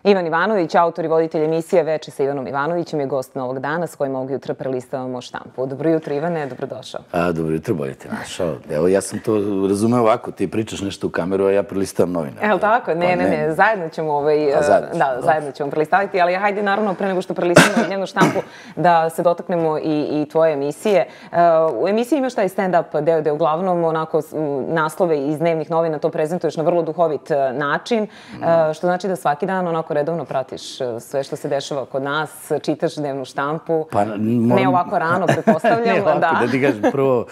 Ivan Ivanović, autor i voditelj emisije Veče sa Ivanom Ivanovićem, je gost Novog dana s kojim ovog jutra prelistavamo štampu. Dobro jutro, Ivane, dobrodošao. Dobro jutro, bolje te našao. Evo, ja sam to razumeo ovako, ti pričaš nešto u kameru, a ja prelistavam novine. Evo tako? Ne, zajedno ćemo zajedno ćemo prelistaviti, ali hajde naravno pre nego što prelistavamo dnevnu štampu da se dotaknemo i tvoje emisije. U emisiji imaš taj stand-up deo gde uglavnom onako naslove iz dnevnih novina to prezentuješ na vrlo duhovit način, što znači da svaki dan onako redovno pratiš sve što se dešava kod nas, čitaš dnevnu štampu, ne ovako rano, pretpostavljam. Da ti kažem, prvo,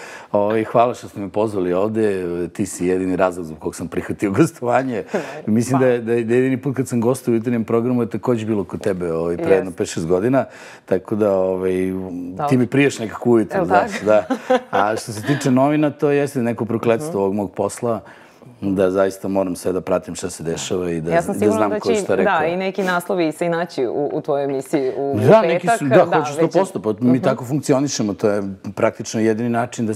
hvala što ste me pozvali ovde, ti si jedini razlog zbog kog sam prihvatio gostovanje. Mislim da je jedini put kad sam gostao u jutarnjem programu je takođe bilo kod tebe pre jedno 5-6 godina, tako da ti mi priješ nekako ujutro, znaš, da. A što se tiče novina, to jeste neko prokletstvo ovog mog posla, da zaista moram sve da pratim šta se dešava i da znam ko šta rekao. Da, i neki naslovi se i naći u tvojoj emisiji u petak. Da, hoću 100%, pa mi tako funkcionišemo, to je praktično jedini način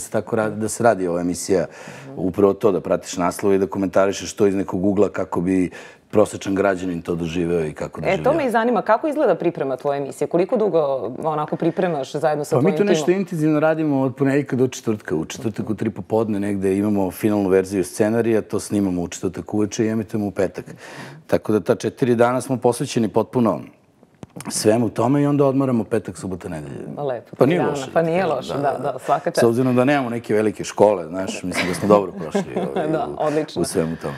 da se radi ova emisija. Upravo to, da pratiš naslove i da komentarišeš to iz nekog ugla kako bi prosečan građanin to doživeo i kako doživeo. To me i zanima, kako izgleda priprema tvoje emisije? Koliko dugo onako pripremaš zajedno sa tvojim timom? Pa mi to nešto intenzivno radimo od ponedjeljka do četvrtka. U četvrtak u 3 popodne negde imamo finalnu verziju scenarija, to snimamo u četvrtak uveče i emitujemo u petak. Tako da ta 4 dana smo posvećeni potpuno svemu tome i onda odmaramo petak, subota, nedelje. Lepo. Pa nije loše. Pa nije loše, da, svaka čast. S obzirom da nemamo neke velike škole, znaš, mislim da smo dobro prošli u svemu tome.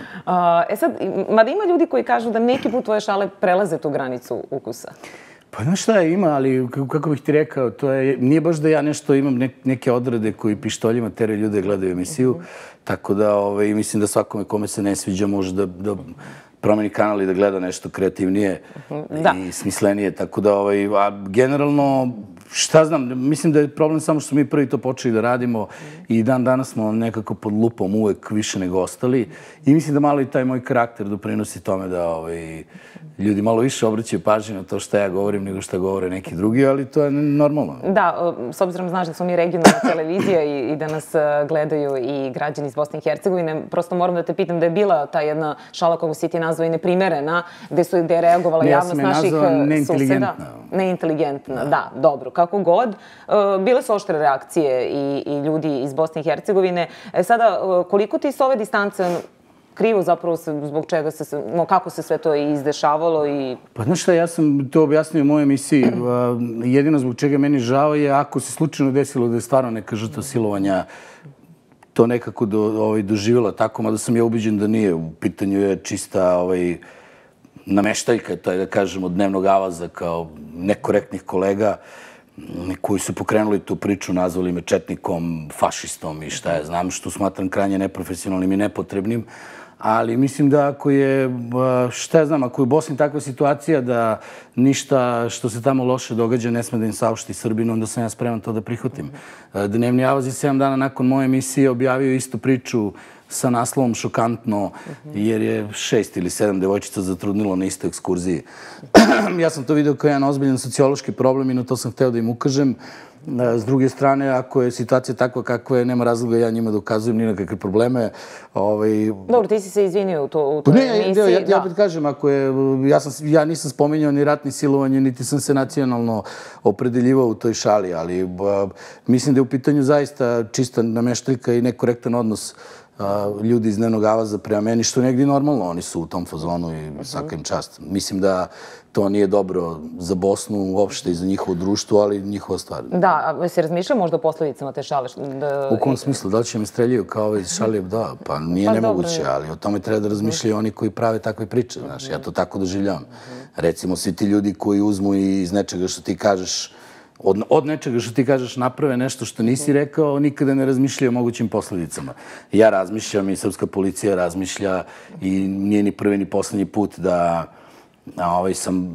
Sad, mada ima ljudi koji kažu da neki put tvoje šale prelaze tu granicu ukusa. Pa znaš šta ima, ali kako bih ti rekao, nije baš da ja nešto imam neke odrede koji pištoljima teraju ljude gledaju emisiju, tako da mislim da svakome kome se ne sviđa može da promeni kanal i da gleda nešto kreativnije i smislenije. Tako da, generalno, šta znam, mislim da je problem samo što smo mi prvi to počeli da radimo i danas smo nekako pod lupom uvek više nego ostali i mislim da malo i taj moj karakter doprinosi tome da ljudi malo više obraćaju pažnju na to šta ja govorim nego šta govore neki drugi, ali to je normalno. Da, s obzirom znaš da smo mi regionalna televizija i da nas gledaju i građani iz Bosne i Hercegovine, prosto moram da te pitam da je bila ta jedna šala koju si ti nazvao i neprimerena, gde je reagovala javnost naših suseda. Ja sam je nazvao neinteligentna. Neinteligentna, da, dobro, kako god. Bile su oštre reakcije i ljudi iz Bosne i Hercegovine. Sada, koliko ti s ove distance krivo zapravo zbog čega kako se sve to izdešavalo i... Pa znaš šta, ja sam to objasnio u mojoj emisiji. Jedino zbog čega meni žao je ako se slučajno desilo da je stvarno neka žrtva silovanja to nekako doživjela tako, mada sam ja ubeđen da nije. U pitanju je čista nameštaljka, da kažem, od dnevnog avaza kao nekorektnih kolega koji su pokrenuli tu priču, nazvali me četnikom, fašistom i šta ja znam, što smatram krajnje neprofesionalnim i nepotrebnim. Ali mislim da ako je, šta ja znam, ako je u Bosni takva situacija da ništa što se tamo loše događa ne sme da im saopšti Srbinu, onda sam ja spreman to da prihvatim. Dnevni avaz je 7 dana nakon moje emisije objavio istu priču sa naslovom Šokantno, jer je 6 ili 7 devojčica zatrudnilo na istoj ekskurziji. Ja sam to video kao jedan ozbiljan sociološki problem i na to sam hteo da im ukažem. S druge strane, ako je situacija takva kakva je, nema razloga ja njima da ukazujem ni na kakve probleme. Dobro, ti si se izvinio u toj emisiji. Ja opet kažem, ja nisam spominjao ni rat ni silovanje, niti sam se nacionalno opredeljivao u toj šali, ali mislim da je u pitanju zaista čista nameštaljka i nekorektan odnos ljudi iz dnevnog avaza prema meni, što je negdje normalno, oni su u tom fazonu i svaka im čast. Mislim da to nije dobro za Bosnu uopšte i za njihovo društvo, ali njihova stvar. Da, a si razmišljao možda o posledicama te šale? U kom smislu? Da li će me streljaju kao ove iz šale? Da, pa nije nemoguće, ali o tome treba da razmišljaju oni koji prave takve priče, znaš, ja to tako doživljavam. Recimo, svi ti ljudi koji uzmu iz nečega što ti kažeš, od nečega što ti kažeš naprave nešto što nisi rekao, nikada ne razmišljaju o mogućim posledicama. Ja razmišljam i srpska policija razmišlja i nije ni prvi ni poslednji put da sam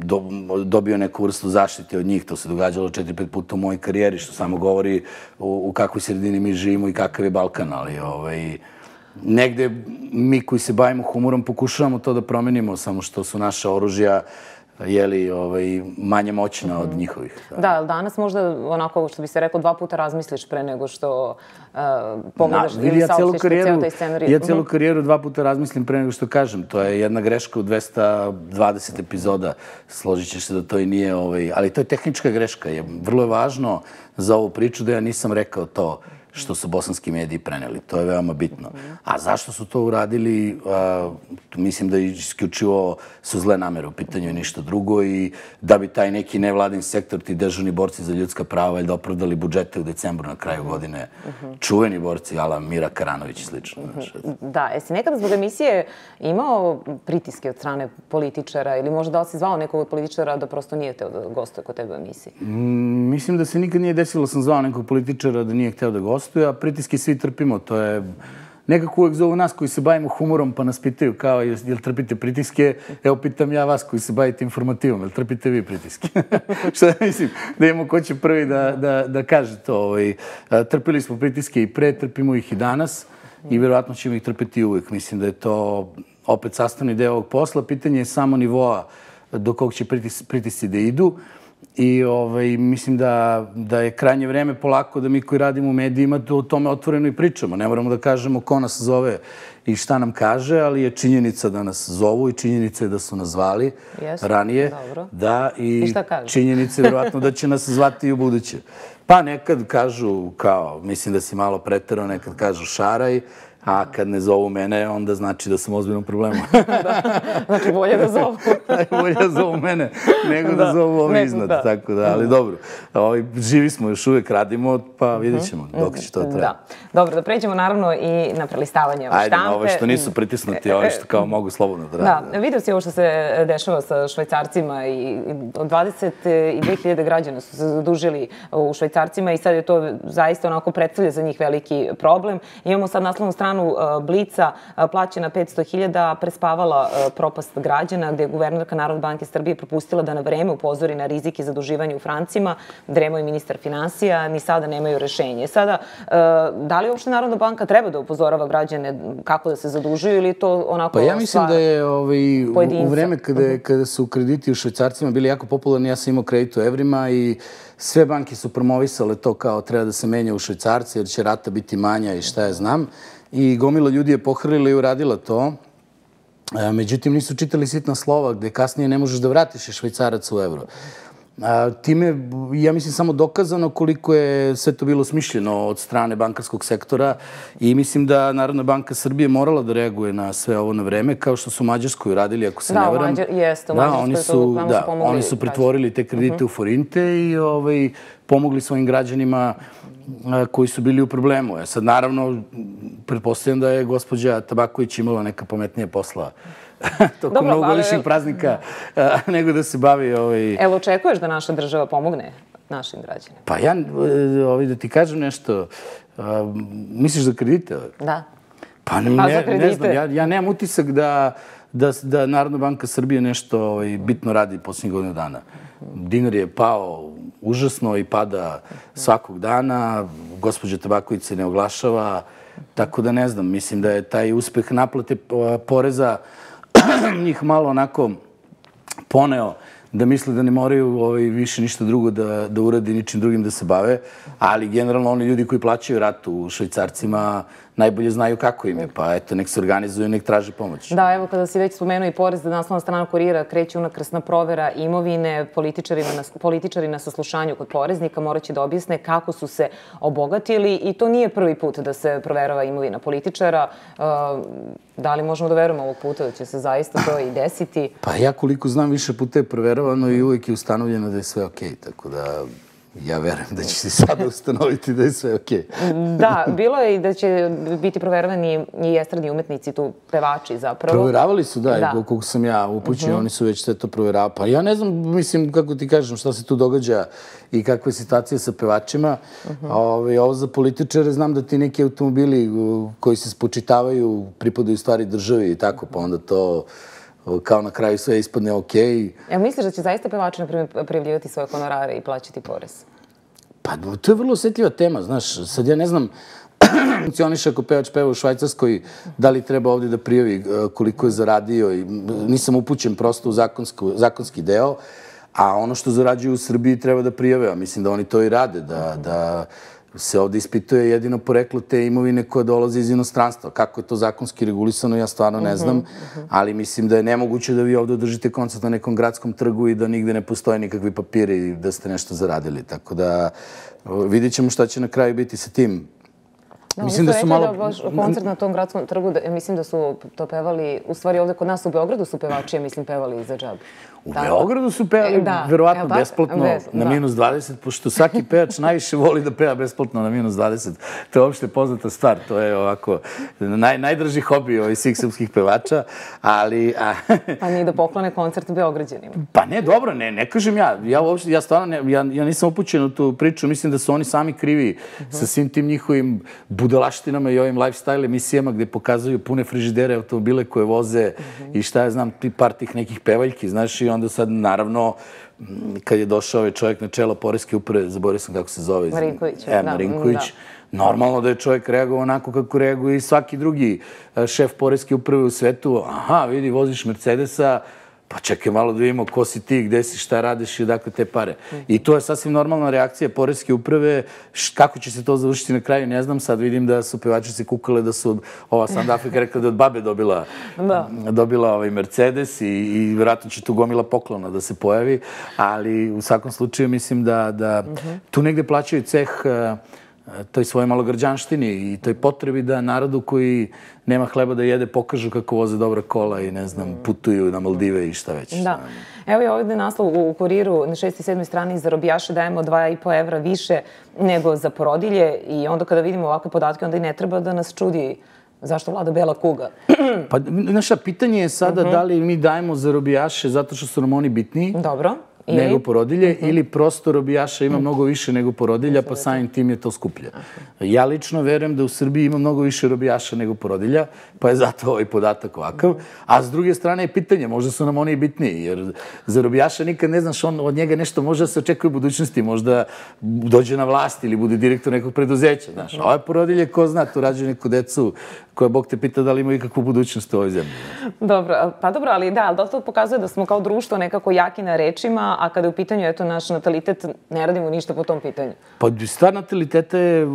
dobio neku vrstu zaštite od njih. To se događalo 4-5 puta u mojoj karijeri, što samo govori u kakvoj sredini mi živimo i kakav je Balkan, ali negde mi koji se bavimo humorom pokušavamo to da promenimo, samo što su naša oružja manje moćna od njihovih. Da, ali danas možda, onako, što bi se rekao, 2 puta razmisliš pre nego što pogledaš ili saopštiš ceo taj scenarij. Ja celu karijeru 2 puta razmislim pre nego što kažem. To je jedna greška u 220 epizoda. Složit ćeš se da to i nije, ali to je tehnička greška. Vrlo je važno za ovu priču da ja nisam rekao to što su bosanski mediji preneli. To je veoma bitno. A zašto su to uradili? Mislim da isključivo su zle namere u pitanju i ništa drugo i da bi taj neki nevladin sektor, ti dežurni borci za ljudska prava, da opravdali budžete u decembru na kraju godine. Čuveni borci, ala Mira Karanović i slično. Da, jesi nekada zbog emisije imao pritiske od strane političara ili možda da li si zvao nekog od političara da prosto nije hteo da gostuje kod tebe u emisiji? Mislim da se nikad nije desilo sam zvao nekog političara da nije hteo da gostuje, a pritiske svi trpimo. To je nekako uvek zovu nas koji se bavimo humorom pa nas pitaju kao jel trpite pritiske? Evo pitam ja vas koji se bavite informativom, jel trpite vi pritiske? Šta mislim? Da imamo ko će prvi da kaže to. Trpili smo pritiske i pre, trpimo ih i danas i vjerovatno ćemo ih trpiti uvek. Mislim da je to opet sastavni deo ovog posla. Pitanje je samo nivoa do kog će pritisci da idu. I mislim da je krajnje vreme polako da mi koji radimo u medijima o tome otvoreno i pričamo. Ne moramo da kažemo ko nas zove i šta nam kaže, ali je činjenica da nas zovu i činjenica je da su nas zvali ranije. Da, i činjenica je vjerovatno da će nas zvati i u buduće. Pa nekad kažu kao, mislim da si malo preterao, nekad kažu šaraj, a kad ne zovu mene, onda znači da sam u ozbiljnom problemu. Znači, bolje da zovu. Bolje da zovu mene, nego da zovu ovi iznad. Tako da, ali dobro. Živi smo, još uvijek radimo, pa vidjet ćemo dok će to trajati. Dobro, da pređemo naravno i na prelistavanje štampe. Ajde, na ove što nisu pritisnuti, ove što kao mogu slobodno da rade. Da, vidio si ovo što se dešava sa švajcarcima i 22.000 građana su se zadužili u švajcarcima i sad je to zaista onako predstavlja za njih veliki problem. Imamo sad naslovnu stranu Blica, plaćena 500.000, prespavala propast građana, gde je guvernerka Narodne banke Srbije propustila da na vreme upozori na rizike zaduživanja u francima, dremao i ministar finansija, ni sada nemaju rešenje. Sada, da li uopšte Narodna banka treba da upozorava građane kako da se zadužuju ili to onako... Pa ja mislim da je u vreme kada su krediti u švajcarcima bili jako popularni, ja sam imao kredit u evrima i sve banke su promovisale to kao treba da se menja u švajcarci jer će rata biti manja i šta ja znam. I gomila ljudi je pohrlila i uradila to. Međutim, nisu čitali sitna slova gde kasnije ne možeš da vratiš švajcarac u evro. Time, ja mislim, samo dokazano koliko je sve to bilo smišljeno od strane bankarskog sektora i mislim da Narodna banka Srbije morala da reaguje na sve ovo na vreme, kao što su u Mađarskoj uradili, ako se ne varam. Da, oni su pretvorili te kredite u forinte i pomogli svojim građanima koji su bili u problemu. Sad, naravno, pretpostavljam da je gospođa Tabaković imala neka pametnija posla tokom novogodišnjih praznika nego da se bavi... Evo, očekuješ da naša država pomogne našim građanima? Pa ja, da ti kažem nešto, misliš za kredite? Da. Pa ne znam, ja nemam utisak da Narodna banka Srbije nešto bitno radi posljednjih godina dana. Dinar je pao užasno i pada svakog dana, gospođa Tabaković se ne oglašava, tako da ne znam, mislim da je taj uspeh naplate poreza njih malo onako poneo da misle da ne moraju više ništa drugo da uradi, ničim drugim da se bave, ali generalno oni ljudi koji plaćaju ratu u švajcarcima najbolje znaju kako im je, pa eto, nek se organizuju, nek traže pomoć. Da, evo, kada si već spomenuo i porez, da naslovna strana Kurira kreće unakrsna provera imovine, političari na saslušanju kod poreznika moraće da objasne kako su se obogatili i to nije prvi put da se proverava imovina političara. Da li možemo da verujemo ovog puta da će se zaista to i desiti? Pa ja koliko znam više puta je proveravano i uvijek je ustanovljeno da je sve okej, tako da... Ja verujem da će se sada ustanoviti da je sve okej. Da, bilo je i da će biti proveravani i estradni umetnici, tu pevači zapravo. Proveravali su, da, koliko sam ja upućen, oni su već sve to proveravali. Pa ja ne znam, mislim, kako ti kažem, šta se tu događa i kakva je situacija sa pevačima. Ovo za političare, znam da ti neki automobili koji se spočitavaju pripadaju stvari državi i tako, pa onda to... kao na kraju sve ispadne okej. Evo, misliš da će zaista pevači, na primjer, prijavljivati svoje honorare i plaćati porez? Pa, to je vrlo osjetljiva tema, znaš. Sad ja ne znam, funkcioniše ako pevač peva u Švajcarskoj, da li treba ovdje da prijavi koliko je zaradio. Nisam upućen prosto u zakonski deo, a ono što zarađuju u Srbiji treba da prijave. Mislim da oni to i rade, da se ovdje ispituje jedino poreklo te imovine koja dolaze iz inostranstva. Kako je to zakonski regulisano, ja stvarno ne znam, ali mislim da je nemoguće da vi ovdje održite koncert na nekom gradskom trgu i da nigde ne postoje nikakvi papiri i da ste nešto zaradili. Tako da vidjet ćemo šta će na kraju biti sa tim. Mislim da su malo... Koncert na tom gradskom trgu, mislim da su to pevali, u stvari ovdje kod nas u Beogradu su pevači, mislim, pevali za džabu. U Beogradu su pevali verovatno besplatno na minus 20, pošto svaki pevač najviše voli da peva besplatno na minus 20. To je uopšte poznata stvar. To je ovako najdraži hobi ovih svih srpskih pevača, ali... Pa nije da poklone koncert Beograđanima. Pa ne, dobro, ne kažem ja. Ja stvarno, ja nisam upućen u tu priču. Mislim da su oni sami krivi sa svim tim njihovim budalaštinama i ovim lifestyle emisijama gde pokazuju pune frižidere, automobile koje voze i šta ja znam, par tih nekih pevaljki, znaš, i onda sad, naravno, kad je došao ovaj čovjek na čelo Poreske uprave, zaboravio sam kako se zove. Marinković. Normalno da je čovjek reagovao onako kako reaguje i svaki drugi šef Poreske uprave u svetu. Aha, vidi, voziš Mercedesa, pa čekaj malo da vidimo ko si ti, gde si, šta radiš i odakle te pare. I to je sasvim normalna reakcija Poreske uprave. Kako će se to završiti na kraju, ne znam. Sad vidim da su pevačice kukale da su ova Sand Afrika rekla da od babe dobila Mercedes i vjerojatno će tu gomila poklona da se pojavi. Ali u svakom slučaju mislim da tu negde plaćaju ceh toj svojoj malogrđanštini i toj potrebi da narodu koji nema hleba da jede pokažu kako voze dobra kola i, ne znam, putuju na Maldive i šta već. Da. Evo je ovdje naslov u Kuriru na 6. i 7. strani za robijaše dajemo 2,5 evra više nego za porodilje i onda kada vidimo ovakve podatke onda i ne treba da nas čudi zašto vlada bela kuga. Pa, znaš, pitanje je sada da li mi dajemo za robijaše zato što su nam oni bitniji. Dobro. Nego porodilje ili prosto robijaša ima mnogo više nego porodilja, pa samim tim je to skuplje. Ja lično verujem da u Srbiji ima mnogo više robijaša nego porodilja, pa je zato ovaj podatak ovakav. A s druge strane je pitanje, možda su nam oni i bitniji, jer za robijaša nikad ne znaš, od njega nešto može da se očekuje u budućnosti, možda dođe na vlast ili bude direktor nekog preduzeća. A ove porodilje, ko zna, tu rađaju neku decu koja Bog te pita da li imaju ikakvu budućnost u ovoj zemlji. Dobro, pa dobro, ali da, ali to pokazuje da smo kao društvo nekako jaki na rečima, a kada je u pitanju, eto, naš natalitet, ne radimo ništa po tom pitanju. Pa stvar nataliteta je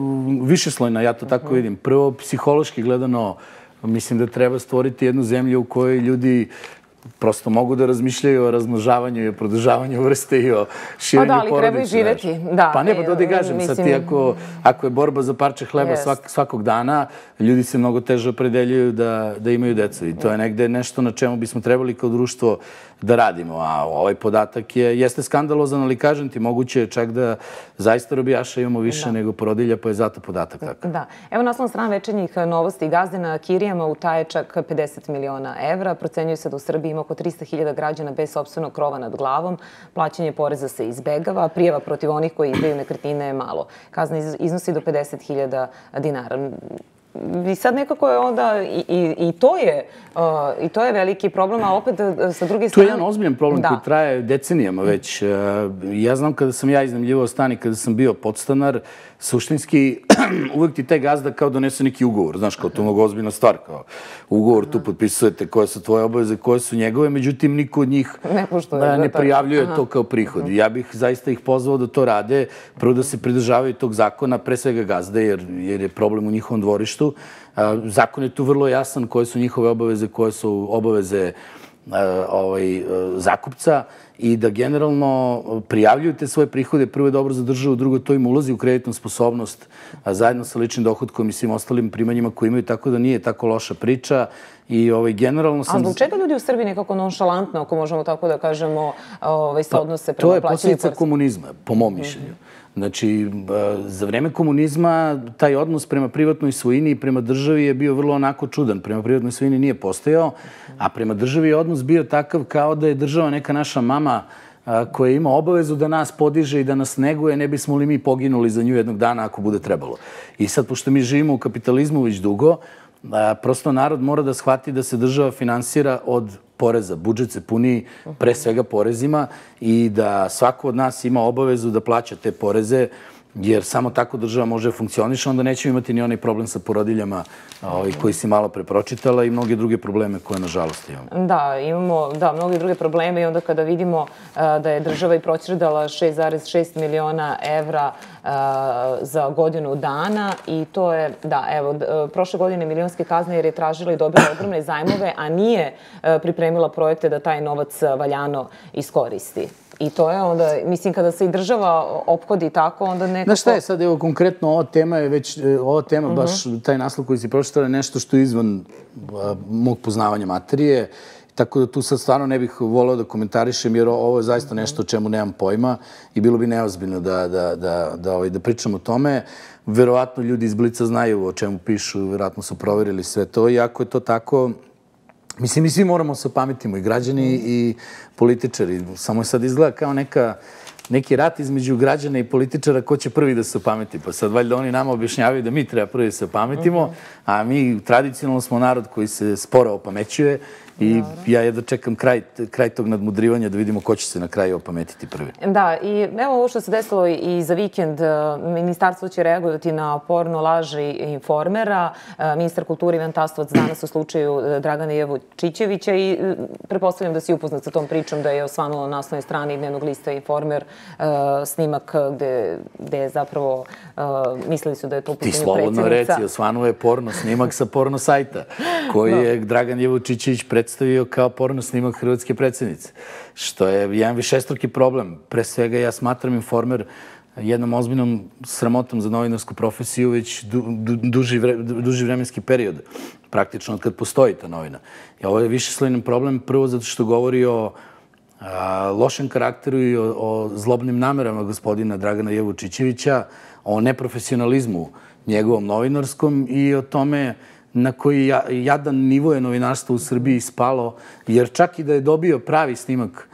višeslojna, ja to tako vidim. Prvo, psihološki gledano, mislim da treba stvoriti jednu zemlju u kojoj ljudi prosto mogu da razmišljaju o razmnožavanju i o produžavanju vrste i o širenju porodice. Pa da, ali treba i živeti. Pa ne, pa to da kažem. Sad ti, ako je borba za parče hleba svakog dana, ljudi se mnogo teže opredeljuju da imaju decu. I to je negde nešto na čemu bismo trebali kao društvo da radimo. A ovaj podatak jeste skandalozan, ali kažem ti, moguće je čak da zaista robijaša imamo više nego porodilja, pa je zato podatak takav. Da. Evo naslovna strana Večernjih novosti. Gazde na kirijama utaje čak 50 miliona evra. Procenjuje se da u Srbiji ima oko 300.000 građana bez sopstvenog krova nad glavom. Plaćanje poreza se izbegava. Prijava protiv onih koji izdaju nekretnine je malo. Kazna iznosi do 50.000 dinara. I sad nekako je onda, i to je veliki problem, a opet sa druge strane... To je jedan ozbiljan problem koji traje decenijama već. Ja znam kada sam ja iznajmljivao stan i kada sam bio podstanar, suštinski uvijek ti taj gazda kao donese neki ugovor. Znaš, kao to je mnogo ozbiljna stvar. Ugovor, tu potpisujete koje su tvoje obaveze, koje su njegove, međutim, niko od njih ne prijavljuje to kao prihod. Ja bih zaista ih pozvao da to rade, prvo da se pridržavaju tog zakona, pre svega gazde, jer je problem u njihovom dvorištu. Zakon je tu vrlo jasan koje su njihove obaveze, koje su obaveze zakupca i da generalno prijavljuju te svoje prihode. Prvo je dobro za državu, drugo to im ulazi u kreditnu sposobnost zajedno sa ličnim dohodkom i svim ostalim primanjima koje imaju, tako da nije tako loša priča. I generalno sam... A zbog čega ljudi u Srbiji nekako nonšalantno, ako možemo tako da kažemo, se odnose prema plaćanju poreza? To je posljedica komunizma, po mom mišljenju. Znači, za vreme komunizma taj odnos prema privatnoj svojini i prema državi je bio vrlo onako čudan. Prema privatnoj svojini nije postojao, a prema državi je odnos bio takav kao da je država neka naša mama koja ima obavezu da nas podiže i da nas neguje, ne bismo li mi poginuli za nju jednog dana ako bude trebalo. I sad, pošto mi živimo u kapitalizmu već dugo, prosto narod mora da shvati da se država finansira od poreza. Budžet se puni pre svega porezima i da svako od nas ima obavezu da plaća te poreze jer samo tako država može da funkcioniše, onda nećemo imati ni onaj problem sa porodiljama koji si malo pre pročitala i mnoge druge probleme koje, nažalost, imamo. Da, imamo mnoge druge probleme i onda kada vidimo da je država i proćerdala 6,6 miliona evra za godinu dana i to je, da, evo, prošle godine milionske kazne jer je tražila i dobila ogromne zajmove, a nije pripremila projekte da taj novac valjano iskoristi. I to je onda, mislim, kada se i država ophodi tako, onda nekako... Znaš šta je sad, evo, konkretno ova tema, baš taj naslov koji si pročitala je nešto što je izvan mog poznavanja materije, tako da tu sad stvarno ne bih voleo da komentarišem, jer ovo je zaista nešto o čemu nemam pojma i bilo bi neozbiljno da pričam o tome. Verovatno ljudi iz Blica znaju o čemu pišu, verovatno su proverili sve to i ako je to tako... Mislim, mi svi moramo se opametimo, i građani i političari. Samo je sad izgleda kao neki rat između građana i političara ko će prvi da se opameti. Pa sad valjda oni nama objašnjavaju da mi treba prvi da se opametimo, a mi tradicionalno smo narod koji se sporo opamećuje i ja jedva čekam kraj tog nadmudrivanja da vidimo ko će se na kraju opametiti prvi. Da, i evo ovo što se desilo i za vikend. Ministarstvo će reagovati na porno laži Informera. Ministar kulture Ivan Tasovac danas u slučaju Dragana Jevučićevića i pretpostavljam da si upoznat sa tom pričom da je osvanulo na naslovnoj strani dnevnog lista Informer snimak gde je zapravo mislili su da je to u pitanju predsjednica. Ti slobodno reci, osvanuo je porno snimak sa porno sajta koji je Dragan Jevučićević predstavio kao porno snimak hrvatske predsjednice, što je jedan višestruki problem. Pre svega ja smatram Informer jednom ozbiljnom sramotom za novinarsku profesiju već duži vremenski period, praktično od kad postoji ta novina. I ovo je višeslojni problem, prvo zato što govori o lošem karakteru i o zlobnim namerama gospodina Dragana Jevučićevića, o neprofesionalizmu njegovom novinarskom i o tome na koji jadan nivo je novinarstvo u Srbiji spalo, jer čak i da je dobio pravi snimak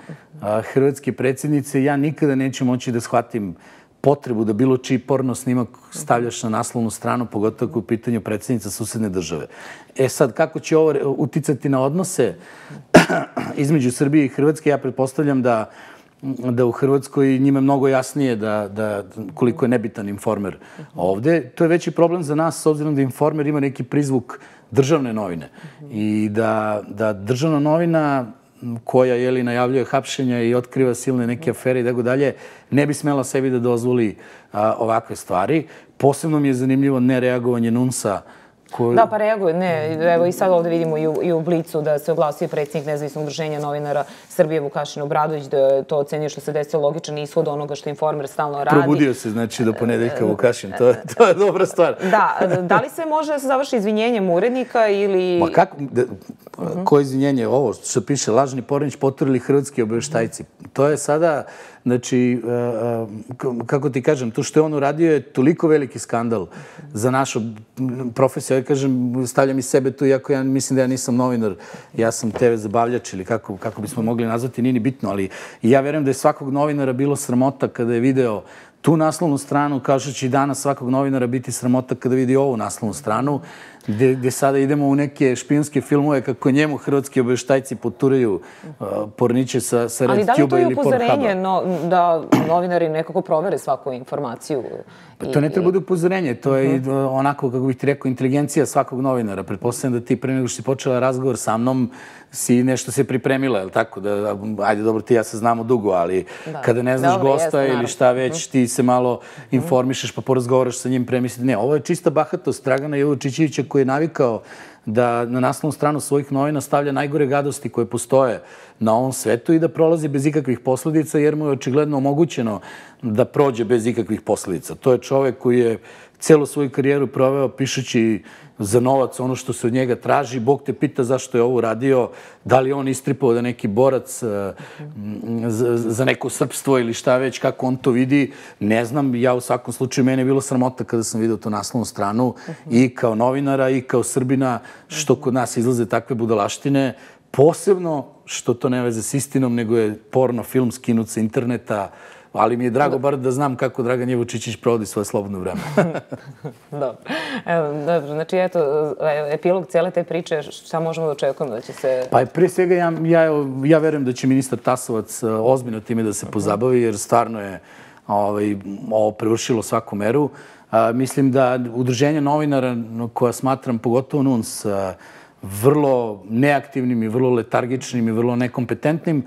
hrvatske predsjednice, ja nikada neću moći da shvatim potrebu da bilo čiji porno snimak stavljaš na naslovnu stranu, pogotovo ako je u pitanju predsjednica susedne države. E sad, kako će ovo uticati na odnose između Srbije i Hrvatske? Ja pretpostavljam da u Hrvatskoj njima je mnogo jasnije koliko je nebitan Informer ovde. To je veći problem za nas, s obzirom da Informer ima neki prizvuk državne novine i da državna novina koja najavljuje hapšenja i otkriva silne neke afere i tako dalje, ne bi smela sebi da dozvoli ovakve stvari. Posebno mi je zanimljivo nereagovanje NUNS-a. Da, pa reaguje, ne. Evo i sad ovde vidimo i u Blicu da se oglasio predsjednik Nezavisnog udruženja novinara Srbije Vukašin Obradović, da je to ocenio što se desilo logičan ishod onoga što Informer stalno radi. Probudio se, znači, do ponedeljka Vukašin. To je dobra stvar. Da li se može da se završi izvinjenjem urednika ili... Ma kako? Koje izvinjenje? Ovo što piše, lažni Pornić poturili hrvatski obaveštajci. To je sada, znači, kako ti kažem, to što je on uradio je toliko veliki skandal za našu profesiju. Ja kažem, stavljam i sebe tu, iako ja mislim da ja nisam novinar, ja sam TV zabavljač ili kako bismo mogli nazvati, nije ni bitno, ali ja verujem da je svakog novinara bilo sramota kada je video tu naslovnu stranu, kao što će i danas svakog novinara biti sramota kada vidi ovu naslovnu stranu, gde sada idemo u neke špijunske filmove kako njemu hrvatski obaveštajci poturaju porniće sa Red Tube ili Pornhuba. Ali da li je to i upozorenje da novinari nekako provere svaku informaciju? To ne treba bude upozorenje, to je onako, kako bih ti rekao, inteligencija svakog novinara. Pretpostavljam da ti pre nego što si počela razgovor sa mnom si nešto se pripremila, je li tako? Ajde, dobro, ti ja se znamo dugo, ali kada ne znaš gosta ili šta već, ti se malo informišeš pa porazgovaraš sa njim, premisliti. Ne, ovo je čista bahatost Dragana Jevučićevića koji je navikao da na naslovnu stranu svojih novina stavlja najgore gadosti koje postoje na ovom svetu i da prolazi bez ikakvih posledica, jer mu je očigledno omogućeno da prođe bez ikakvih posledica. To je čovek koji je celu svoju karijeru proveo pišući za novac ono što se od njega traži. Bog te pita zašto je ovo radio, da li on istripao da neki borac za neko srpstvo ili šta već, kako on to vidi, ne znam. Ja u svakom slučaju, mene je bilo sramota kada sam vidio tu naslovnu stranu i kao novinara i kao Srbina, što kod nas izlaze takve budalaštine, posebno što to ne veze s istinom, nego je porno film skinut sa interneta, ali mi je drago bar da znam kako Dragan Jevučićević provodi svoje slobodno vreme. Dobro, znači eto, epilog cijele te priče, šta možemo da očekujemo da će se... Pa pre svega ja verujem da će ministar Tasovac ozbiljno time da se pozabavi, jer stvarno je ovo prevršilo svaku meru. Mislim da udruženje novinara, koja smatram pogotovo NUNS, vrlo neaktivnim i vrlo letargičnim i vrlo nekompetentnim,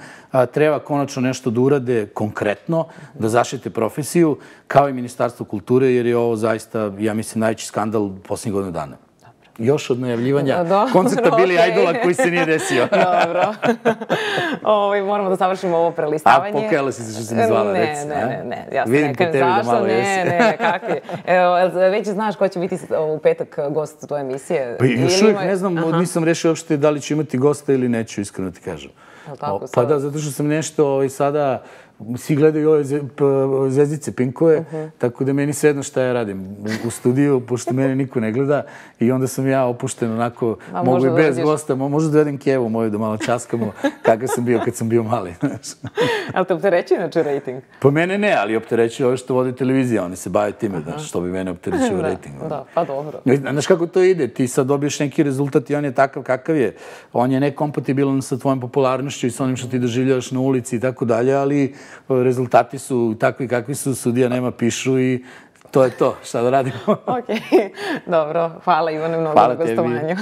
treba konačno nešto da urade konkretno, da zaštite profesiju, kao i Ministarstvo kulture, jer je ovo zaista, ja mislim, najveći skandal posljednjih godina dana. Još od najavljivanja koncerta Billy Idola koji se nije desio. Dobro. Moramo da završimo ovo prelistavanje. A pokajala si se što sam izvala, reci. Ne. Ja se ne kajem zašto. Ne, kakvi. Već znaš ko će biti u petak gost tvoje emisije? Pa još uvijek ne znam, nisam rešio uopšte da li ću imati gosta ili neću, iskreno ti kažem. Pa da, zato što sam nešto sada... Svi gledaju ove zvezdice Pinkove, tako da meni svejedno šta ja radim u studiju, pošto mene niko ne gleda i onda sam ja opušten onako, mogu i bez gosta, možda dovedem Kevu moju da malo časkamo kakav sam bio kad sam bio mali. Ali te opterećuje inače rejting? Po mene ne, ali opterećuje ove što vode televizija, oni se bave time, što bi mene opterećuje rejting. Da, pa dobro. Znaš kako to ide, ti sad dobiješ neki rezultat i on je takav kakav je. On je nekompatibilan sa tvojom popularnošću i sa onim što ti doživljavaš na ulici i tako dalje, ali rezultati su takvi kakvi su, sudija nema pišu i to je to. Šta da radimo? Ok, dobro. Hvala Ivane mnogo na gostovanju.